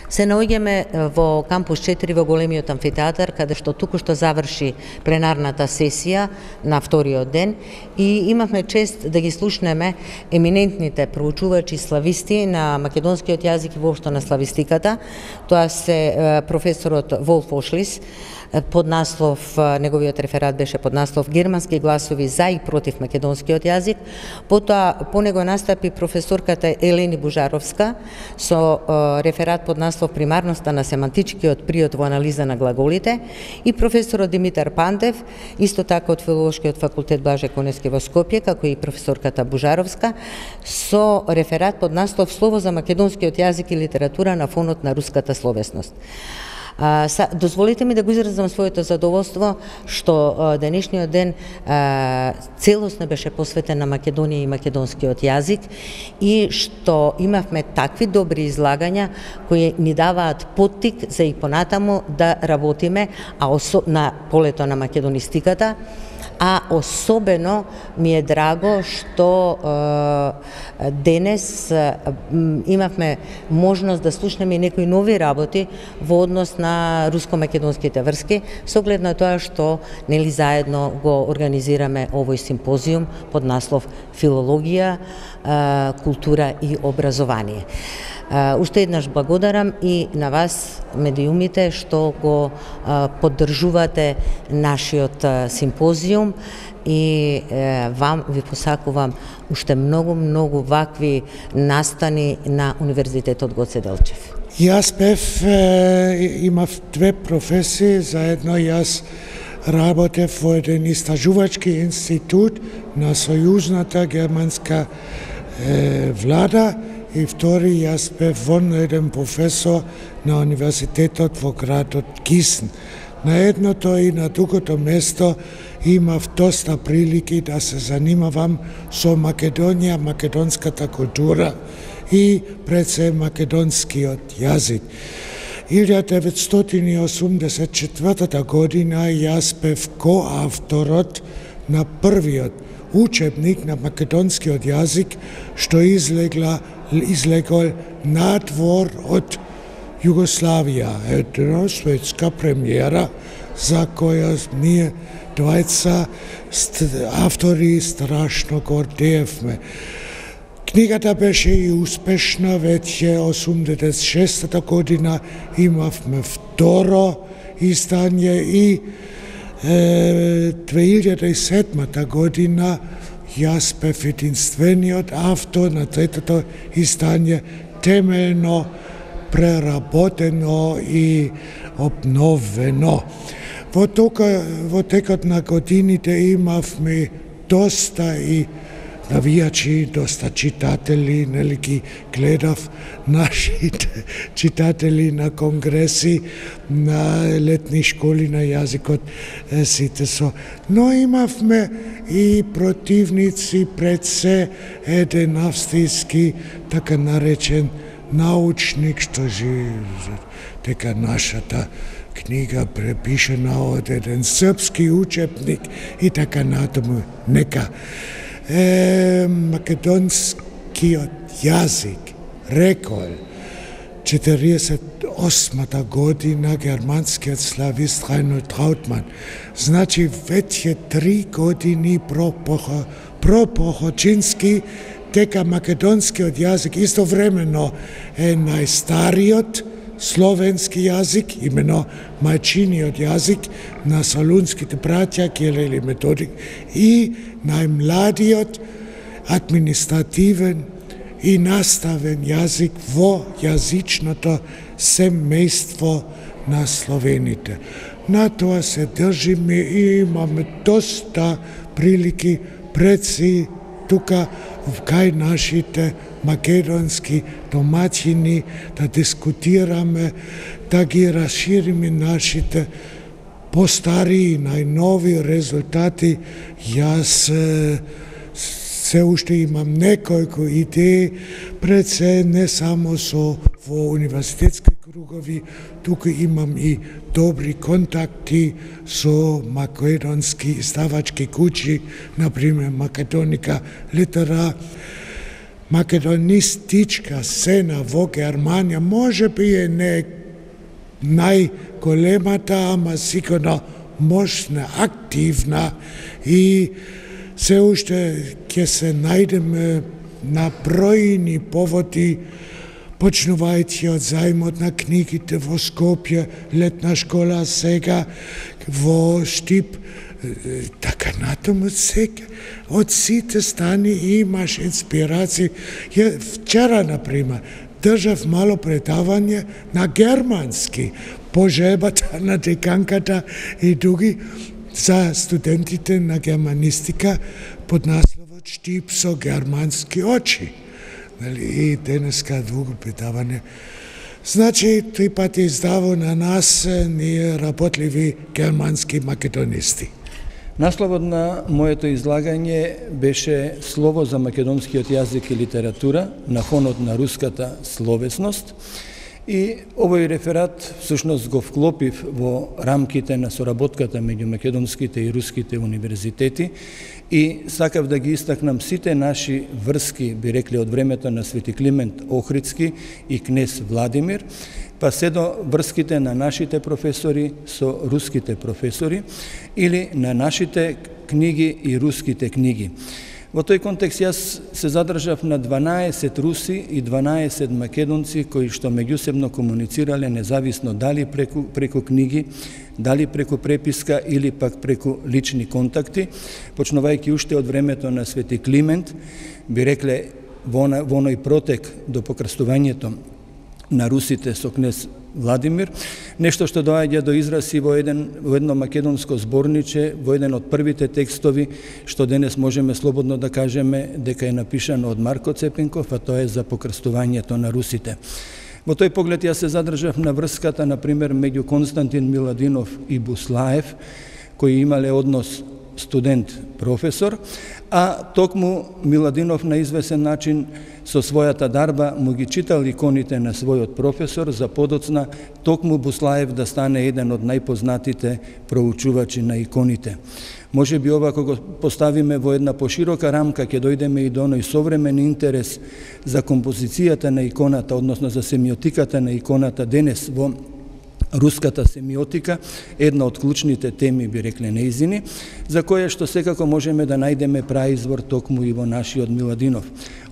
Се наоѓаме во кампус 4 во големиот амфитеатар, каде што току-што заврши пленарната сесија на вториот ден и имавме чест да ги слушнеме еминентните проучувачи слависти на македонскиот јазик и воопшто на славистиката. Тоа се професорот Волф Ошлис, под наслов, неговиот реферат беше под наслов Германски гласови за и против македонскиот јазик. Потоа по него настапи професорката Елени Бужаровска со реферат под наслов Примарноста на семантичкиот приод во анализа на глаголите и професорот Димитар Пандев, исто така од Филолошкиот факултет Блаже Коневски во Скопје, како и професорката Бужаровска, со реферат под наслов Слово за македонскиот јазик и литература на фонот на руската словесност. Дозволите ми да го изразам своето задоволство што денешниот ден целосно беше посветен на Македонија и македонскиот јазик и што имавме такви добри излагања кои ни даваат поттик за и понатаму да работиме на полето на македонистиката. А особено ми е драго што денес имавме можност да слушнеме некои нови работи во однос на руско-македонските врски, со оглед на тоа што нели заедно го организираме овој симпозиум под наслов Филологија, култура и образование. Уште еднаш благодарам и на вас, медиумите, што го поддржувате нашиот симпозиум и вам ви посакувам уште многу вакви настани на Универзитетот Гоце Делчев. Јас имав две професии, заедно јас работев во еден истражувачки институт на сојузната германска влада и втори јас бев еден професор на Универзитетот во градот Гисен. На едното и на другото место имав доста прилики да се занимавам со Македонија, македонската култура и пред се македонскиот јазик. 1984 година јас бев коавторот на првиот учебник на македонскиот јазик што излегол надвор од Југославија. Една светска премиера за која ние двајца автори страшно гордеевме. Книгата беше и успешна, веќе 86-та година имавме второ издање и 2007 година јас бев единствениот автор на третото издање, темелно преработено и обновено. Во текот на годините имавме доста и навијачи, доста читатели, нели ги гледав нашите читатели на конгреси, на летни школи на јазикот, сите со. Но имавме и противници, пред се еден австријски, така наречен научник, што дека нашата книга препишена од еден српски учебник и така натаму. Нека македонскиот јазик рекол 48-та година германскиот славист Райнолд Траутман. Значи веќе 3 години пропохочински дека македонскиот јазик истовремено е најстариот словенски јазик, имено мајчиниот јазик на солунските браќа Кирил и Методик, и најмладиот административен и наставен јазик во јазичното семејство на словените. На тоа се држиме и имаме доста прилики предси тука кај нашите македонски домаќини да дискутираме, да ги расшириме нашите постари и најнови резултати. Јас се уште имам неколку идеи, пред се не само во универзитетски кругови, туку имам и добри контакти со македонски издавачки куќи, например Македоника Литера, македонистичка сцена во Германија може би е не најголемата, ама сигурно мощна, активна и се уште ќе се најдеме на бројни поводи, почнувајќи од зајмот на книгите во Скопје, летна школа сега во Штип, така натаму сега. Од сите страни имаш инспирации. Вчера, например, држав мало предавање на германски, по жебата на деканката и други за студентите на германистика под насловот Штип со германски очи. И денеска друго предавање. Значи, 3 пати издаво на нас ние работливи германски македонисти. Насловот на моето излагање беше Слово за македонскиот јазик и литература на фонот на руската словесност. И овој реферат всушност го вклопив во рамките на соработката меѓу македонските и руските универзитети и сакав да ги истакнам сите наши врски, би рекле од времето на Свети Климент Охридски и кнез Владимир, па се до врските на нашите професори со руските професори или на нашите книги и руските книги. Во тој контекст јас се задржав на 12 руси и 12 македонци кои што меѓусебно комуницирале независно дали преку книги, дали преку преписка или пак преку лични контакти, почнувајќи уште од времето на Свети Климент, би рекле во оној протек до покрстувањето на русите со кнез Владимир, нешто што доаѓа до израз и во едно македонско зборниче, во еден од првите текстови, што денес можеме слободно да кажеме дека е напишано од Марко Цепенков, а тоа е за покрстувањето на русите. Во тој поглед јас се задржав на врската, например, меѓу Константин Миладинов и Буслаев, кои имале однос студент-професор, а токму Миладинов на извесен начин со својата дарба му ги читал иконите на својот професор за подоцна токму Буслаев да стане еден од најпознатите проучувачи на иконите. Може би ова кога го поставиме во една поширока рамка ќе дојдеме и до оној современ интерес за композицијата на иконата, односно за семиотиката на иконата денес во руската семиотика, една од клучните теми, би рекле неизини, за која што секако можеме да најдеме праизвор токму и во нашиот Миладинов.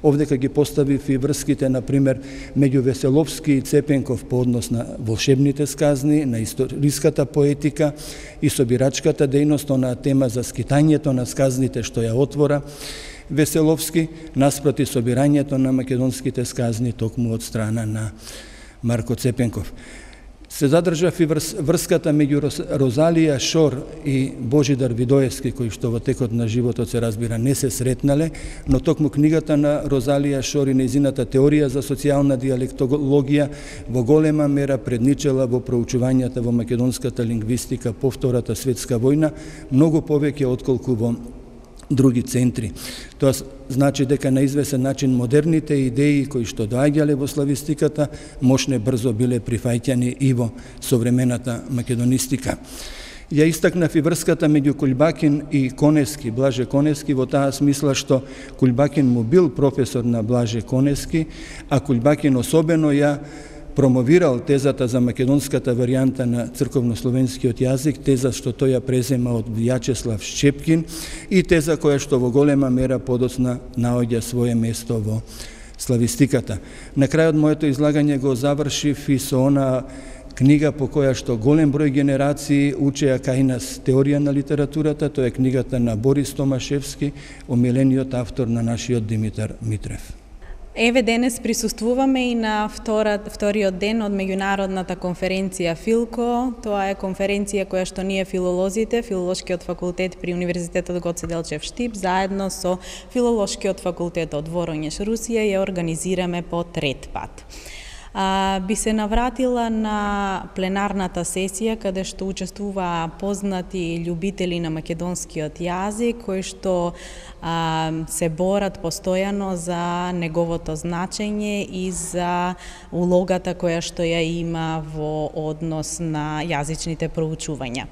Овдека ги поставив и врските, например, меѓу Веселовски и Цепенков по однос на волшебните сказни, на историската поетика и собирачката дејност, на тема за скитањето на сказните што ја отвора Веселовски, наспроти собирањето на македонските сказни токму од страна на Марко Цепенков. Се задржав и врската меѓу Розалија Шор и Божидар Видоевски, кои што во текот на животот се разбира не се сретнале, но токму книгата на Розалија Шор и нејзината теорија за социјална диалектологија во голема мера предничела во проучувањата во македонската лингвистика по Втората светска војна, многу повеќе отколку во други центри. Тоа значи дека на извесен начин модерните идеи кои што доаѓале во славистиката мощне брзо биле прифаќани и во современата македонистика. Ја истакнав и врската меѓу Кулбакин и Конески, Блаже Конески, во таа смисла што Кулбакин му бил професор на Блаже Конески, а Кулбакин особено ја промовирал тезата за македонската варијанта на црковнословенскиот јазик, теза што тој ја презема од Вјачеслав Шчепкин и теза која што во голема мера подоцна наоѓа свое место во славистиката. На крајот моето излагање го завршив и со она книга по која што голем број генерации учеа кај нас теорија на литературата, тоа е книгата на Борис Томашевски, омилениот автор на нашиот Димитар Митрев. Еве денес присуствуваме и на вториот ден од меѓународната конференција Филко. Тоа е конференција која што ние филолозите, Филолошкиот факултет при Универзитетот Гоце Делчев Штип, заедно со Филолошкиот факултет од Воронеж, Русија, ја организираме по трет пат. Би се навратила на пленарната сесија каде што учествуваа познати љубители на македонскиот јазик кои што се борат постојано за неговото значење и за улогата која што ја има во однос на јазичните проучувања.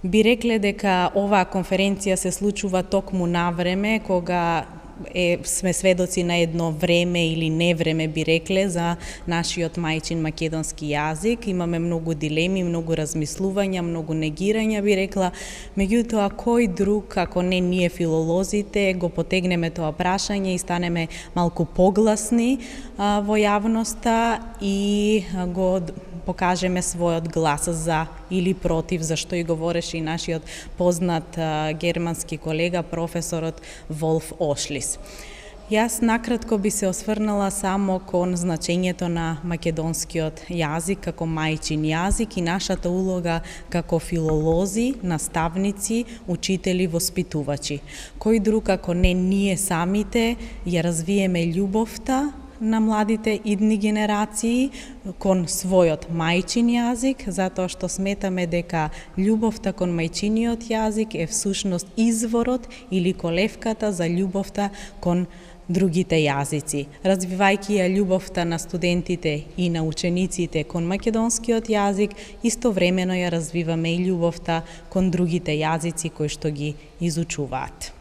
Би рекле дека оваа конференција се случува токму на време кога сме сведоци на едно време или невреме, би рекле, за нашиот мајчин македонски јазик. Имаме многу дилеми, многу размислувања, многу негирања, би рекла. Меѓутоа, кој друг, ако не ние филолозите, го потегнеме тоа прашање и станеме малку погласни во јавноста и го покажеме својот глас за или против, зашто и говореше и нашиот познат германски колега, професорот Волф Ошлис. Јас накратко би се осврнала само кон значењето на македонскиот јазик како мајчин јазик и нашата улога како филолози, наставници, учители, воспитувачи. Кој друг ако не ние самите ја развиеме љубовта на младите идни генерации кон својот мајчин јазик, затоа што сметаме дека љубовта кон мајчиниот јазик е всушност изворот или колевката за љубовта кон другите јазици. Развивајќи ја љубовта на студентите и на учениците кон македонскиот јазик, истовремено ја развиваме и љубовта кон другите јазици кои што ги изучуваат.